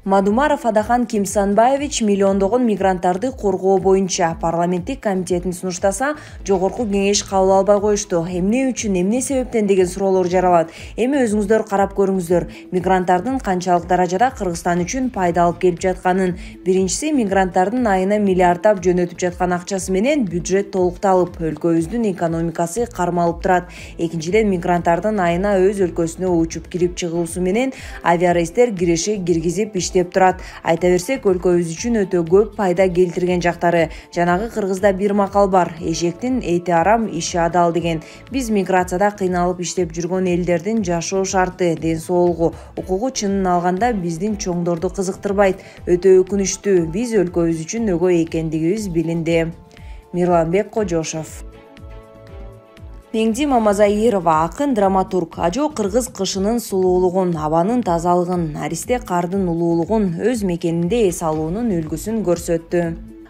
Мадумаров Адахан Кимсанбаевич миллиондогон мигранттарды коргоо боюнча парламенттик комитеттин сунуштаса, жогорку кеңеш кабыл албай коюшту. Эмне үчүн, эмне себептен деген суроолор жаралат. Эми өзүңүздөр карап көрүңүздөр. Мигранттардын канчалык даражада Кыргызстан үчүн пайда алып келип жатканын. Биринчиси, мигранттардын айына миллиарддап жөнөтүп жаткан акчасы менен бюджет толукталып, өлкөбүздүн экономикасы кармалып турат. Экинчиден, мигранттардын айына өз өлкөсүнө учуп кирип чыгуусу менен авиарейстер киргизип деп турат. Айта берсек, өлкөбүз үчүн өтө көп пайда келтирген жактары. Жанагы кыргызда бир макал бар: эшектин эти арам, иши адал деген. Биз миграцияда кыйналып иштеп жүргөн элдердин жашоо шарты, ден соолугу, укугу чынын алганда биздин чоңдорду кызыктырбайт. Өтө өкүнүчтүү. Биз өлкөбүз үчүн өгөй экендигибиз билинди. Мирланбек Кожошов. Меңди Мамазаирова, акын, драматург, ажо кыргыз кышынын сулуулугун, абанын тазалыгын, аристе кардын улуулугун, өз мекенинде эс алуунун үлгүсүн көрсөттү.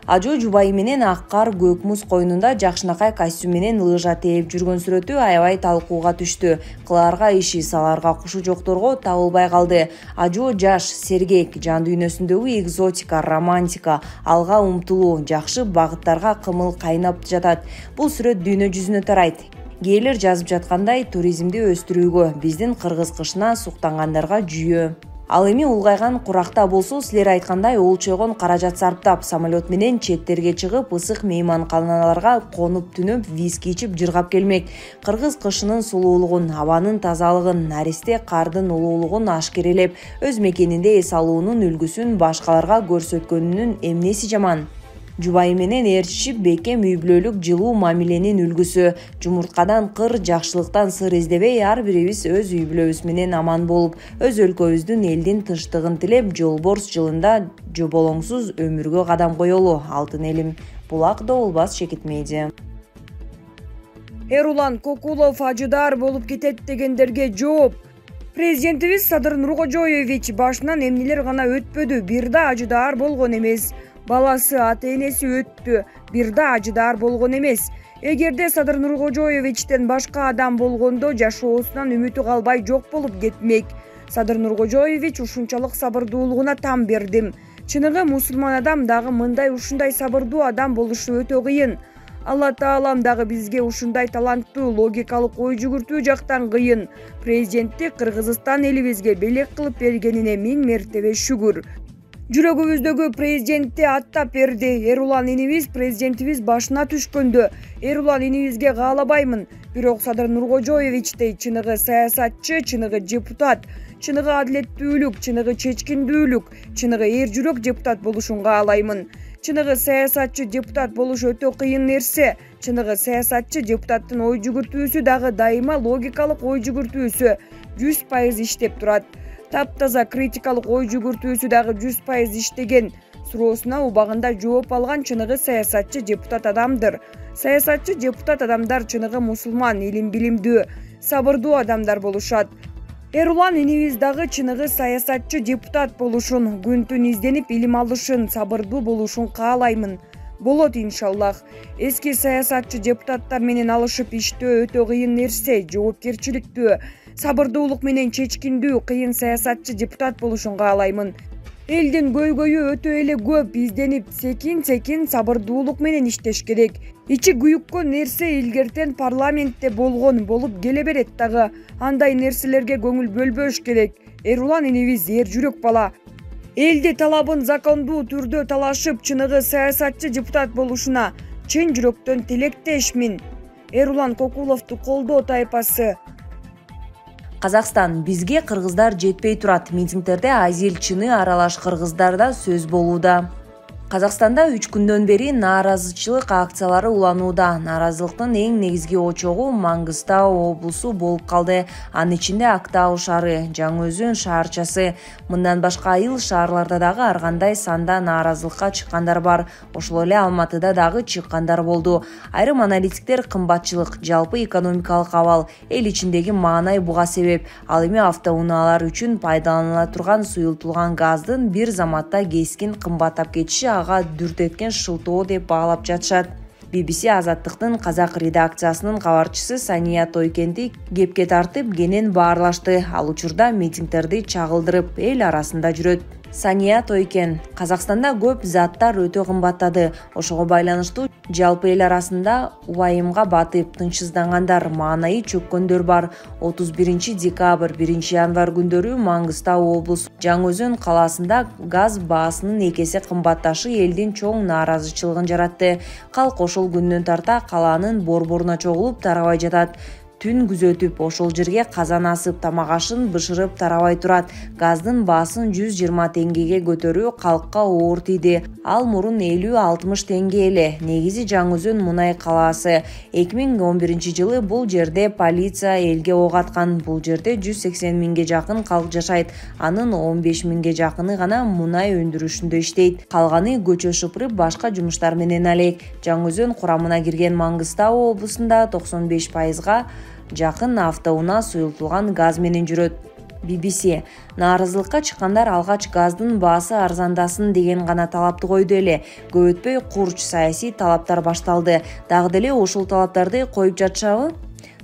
Ажо жубайы менен ак кар көк муз койнунда жакшынакай костюм менен лыжа тээп жүргөн сүрөтү аябай талкууга түштү. Кылаарга иши, салаарга кушу жокторго табылбай калды. Ажо жаш, сергек, жан дүйнөсүндөгү экзотика, романтика, алга умтулуу, жакшы багыттарга кымыл кайнап жатат. Бул сүрөт дүйнө жүзүнө тарайт. Кээрлер жазып жаткандай, туризмди өстүрүүгө, биздин кыргыз кышына суктангандарга жүйө. Ал эми улгайган куракта болсо, силер айткандай олчойгон каражат сарптап, самолет менен четтерге чыгып, ысык мейманканаларга конуп түнөп, виски ичип жыргап келмек. Кыргыз кышынын сулуулугун, абанын тазалыгын, аристе кардын улуулугун ашкерелеп, өз мекенинде эс алуунун үлгүсүн башкаларга көрсөткөнүнүн эмнеси жаман? Жубайы менен ээрчишип, бекем үй бүлөлүк жылуу мамиленин үлгүсү. Жумурткадан кыр, жакшылыктан сыр издебей, ар бирибиз өз үй бүлөбүз менен аман болуп, өз өлкөбүздүн элдин тынчтыгын тилеп, жолборс жылында жоболоңсуз өмүргө кадам коелу. Алтын элим. Булак Добулбас, Шекит Медиа. Эрулан Кокулов ажыдар болуп кетет дегендерге жооп. Президентибиз Садыр Нуркожоевич башынан эмнелер гана өтпөдү, бир да ажыдар болгон эмес. Баласы, ата-энеси өттү, бир да ажыдар болгон эмес. Эгерде Садыр Нуркожоевичтен башка адам болгондо жашоосунан үмүтү калбай жок болуп кетмек. Садыр Нуркожоевич ушунчалык сабырдуулугуна там бердим. Чыныгы мусулман адам дагы мындай ушундай сабырдуу адам болушу өтө кыйын. Алла Таалам дагы бизге ушундай таланттуу, логикалык ой жүгүртүү жактан кыйын. Президентти Кыргызстан элибизге белек кылып бергенине 1000 мертебе шүгүр. Жүрөгүбүздөгү президентти аттап берди. Эрулан инибиз президентибиз башына түшкөндө Эрулан инибизге каалабаймын. Бирок Садыр Нуркожоевичтей чыныгы саясатчы, чыныгы депутат, чыныгы адилеттүүлүк, чыныгы чечкиндүүлүк, чыныгы эр жүрөк депутат болушун каалаймын. Чыныгы саясатчы депутат болуш өтө кыйын нерсе. Чыныгы саясатчы депутаттын ой жүгүртүүсү дагы дайыма логикалык ой жүгүртүүсү 100% иштеп турат. Таптаза критикалык ой жүгүртүүсү дагы 100% иштеген. Суроосуна убагында жооп алган чыныгы саясатчы депутат адамдыр. Саясатчы депутат адамдар чыныгы мусулман, илим билимдүү, сабырдуу адамдар болушат. Эрулан инибиз дагы чыныгы саясатчы депутат болушун, күн түн изденип илим алышын, сабырдуу болушун каалаймын. Болот иншаллах. Эски саясатчы депутаттар менен алышып иштөө өтө кыйын нерсе, жоопкерчиликтүү, сабырдуулук менен чечкиндүү, кыйын саясатчы депутат болушун каалаймын. Элдин көйгөйү өтө эле көп, изденип, секин сабырдуулук менен иштеш керек. Ичи күйүккөн нерсе илгертен парламентте болгон, болуп келе берет дагы. Андай нерселерге көңүл бөлбөш керек. Эрулан инибиз эр жүрөк бала. Элди талабын закондуу түрдө талашып, чыныгы саясатчы депутат болушуна чын жүрөктөн тилектешмин. Эрулан Кокуловду колдоо тайпасы. Казакстан: бизге кыргыздар жетпей турат. Митингдерде азил чыны аралаш кыргыздарда сөз болууда. Казакстанда 3 күндөн бери нааразычылык акциялары уланууда. Нааразылыктын эң негизги очогу Маңгыстау облусу болуп калды. Анын ичинде Актау шаары, Жаңы Өзөн шаарчасы. Мындан башка айыл шаарларда дагы ар кандай санда нааразылыкка чыккандар бар. Ошол эле Алматыда дагы чыккандар болду. Айрым аналитиктер кымбатчылык, жалпы экономикалык абал, эл ичиндеги маанай буга себеп. Ал эми автоунаалар үчүн пайдаланыла турган суюлтулган газдын бир заматта кескин кымбаттап кетиши ага дүртеткен шылтоо деп баалап жатышат. BBC Азаттыктын казак редакциясынын кабарчысы Сания Тойкенди кепке тартып кенен баарлашты. Ал учурда митингдерди чагылдырып, эл арасында жүрөт. Сания Тойкен: Казакстанда көп заттар өтө кымбаттады. Ошого байланыштуу жалпы эл арасында убайымга батып, тынчсыздангандар, маанайы чөккөндөр бар. 31 декабрь, 1 январь күндөрү Маңгыстау облусу Жаңы Өзөн калаасында газ баасынын экесе кымбатташы элдин чоң нааразычылыгын жаратты. Калк ошол күндөн тарта калаанын борборуна чогулуп тарабай жатат. Түн күзөтүп, ошол жерге казан асып, тамак ашын бышырып тарабай турат. Газдын баасын 120 теңгеге көтөрүү калкка оор тийди. Ал мурун 50-60 теңге эле. Негизи Жаңы Өзөн мунай калаасы. 2011 жылы бул жерде полиция элге ок аткан. Бул жерде 180 миңге жакын калк жашайт. Анын 15 миңге жакыны гана мунай өндүрүшүндө иштейт. Калганы көчө шыпырып, башка жумуштар менен алек. Жаңы Өзөн курамына кирген Маңгыстау облусунда 95%га жакын автоунаа суюлтулган газ менен жүрөт. BBC: Нааразылыкка чыккандар алгач газдын баасы арзандасын деген гана талапты койду эле. Көп өтпөй курч саясий талаптар башталды. Дагы деле ушул талаптарды коюп жатышабы?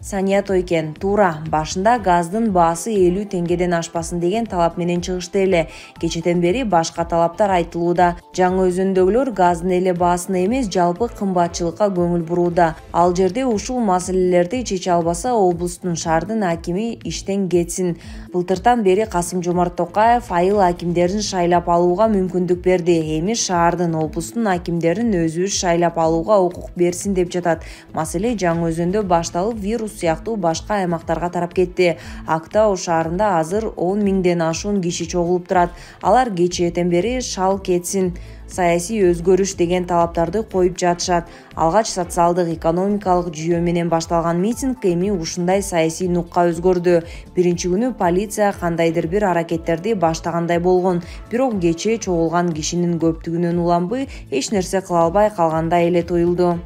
Сания Тойкен: Туура, башында газдын баасы 50 теңгеден ашпасын деген талап менен чыгышты эле. Кечеден бери башка талаптар айтылууда. Жаңы Өзөндөгүлөр газдын эле баасына эмес, жалпы кымбатчылыкка көңүл бурууда. Ал жерде ушул маселелерди чече албаса, облустун, шаардын акими иштен кетсин. Былтыртан бери Касым-Жомарт Токаев айыл акимдерин шайлап алууга мүмкүндүк берди. Эми шаардын, облустун акимдерин өзүбүз шайлап алууга укук берсин деп жатат. Маселе Жаңы Өзөндө башталып, вирус сыяктуу башка аймактарга тарап кетти. Актау шаарында азыр 10 миңден ашуун киши чогулуп турат. Алар кечээден бери шал кетсин, саясий өзгөрүш деген талаптарды коюп жатышат. Алгач социалдык экономикалык жүйө менен башталган митинг эми ушундай саясий нукка өзгөрдү. Биринчи күнү полиция кандайдыр бир аракеттерди баштагандай болгон, бирок кечээ чогулган кишинин көптүгүнөн уланбай эч нерсе кыла албай калгандай эле туюлду.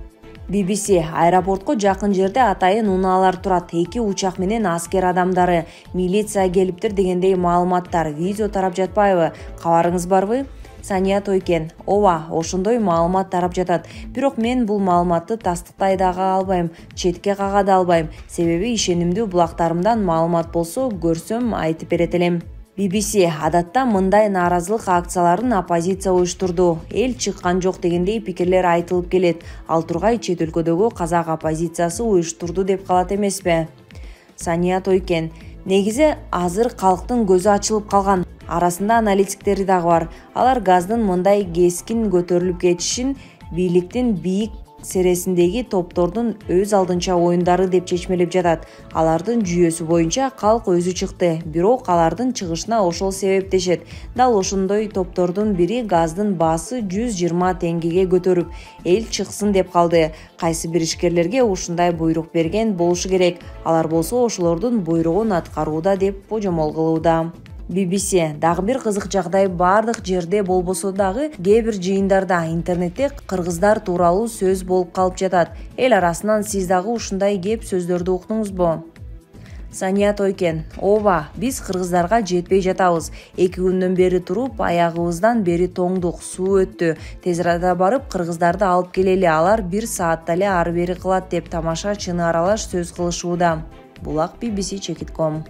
BBC: Аэропортко жакын жерде атайын унаалар турат. 2 учак менен аскер адамдары, милиция келиптир дегендей маалыматтар, видео тарап жатпайбы? Кабарыңыз барбы? Сания Тойкен: Ооба, ошондой маалымат тарап жатат. Бирок мен бул маалыматты тастыктай дагы албайм, четке кага да албайм. Себеби ишенимдүү булактарымдан маалымат болсо, көрсөм айтып берет элем. BBC: Адатта мындай нааразылык акцияларын оппозиция уюштурду. Эл чыккан жок дегендей пикирлер айтылып келет. Ал тургай чет өлкөдөгү казак оппозициясы уюштурду деп калат эмеспи? Сания Тойкен: Негизи азыр калктын көзү ачылып калган. Арасында аналитиктери дагы бар. Алар газдын мындай кескин көтөрүлүп кетишин бийликтин бийик сересиндеги топтордун өз алдынча оюндары деп чечмелеп жатат. Алардын жүйөсү боюнча калк өзү чыкты, бирок алардын чыгышына ошол себептешет. Дал ошондой топтордун бири газдын баасы 120 теңгеге көтөрүп, эл чыксын деп калды. Кайсы бир ишкерлерге ушундай буйрук берген болушу керек. Алар болсо ошолордун буйругун аткарууда деп божомол кылууда. BBC: Дагы бир кызык жагдай бардык жерде болбосо дагы кээ бир жыйындарда интернетте кыргыздар тууралуу сөз болуп калып жатат. Эл арасынан сиз дагы ушундай кеп сөздөрдү уктуңузбу? Сания Тойкен: Ооба, биз кыргыздарга жетпей жатабыз. 2 күндөн бери туруп, аягыбыздан бери тоңдук, суу өттү. Тез арада барып кыргыздарды алып келели, алар 1 саатта эле ары бери кылат деп тамаша чыны аралаш сөз кылышууда. Булак BBC Чекит.com.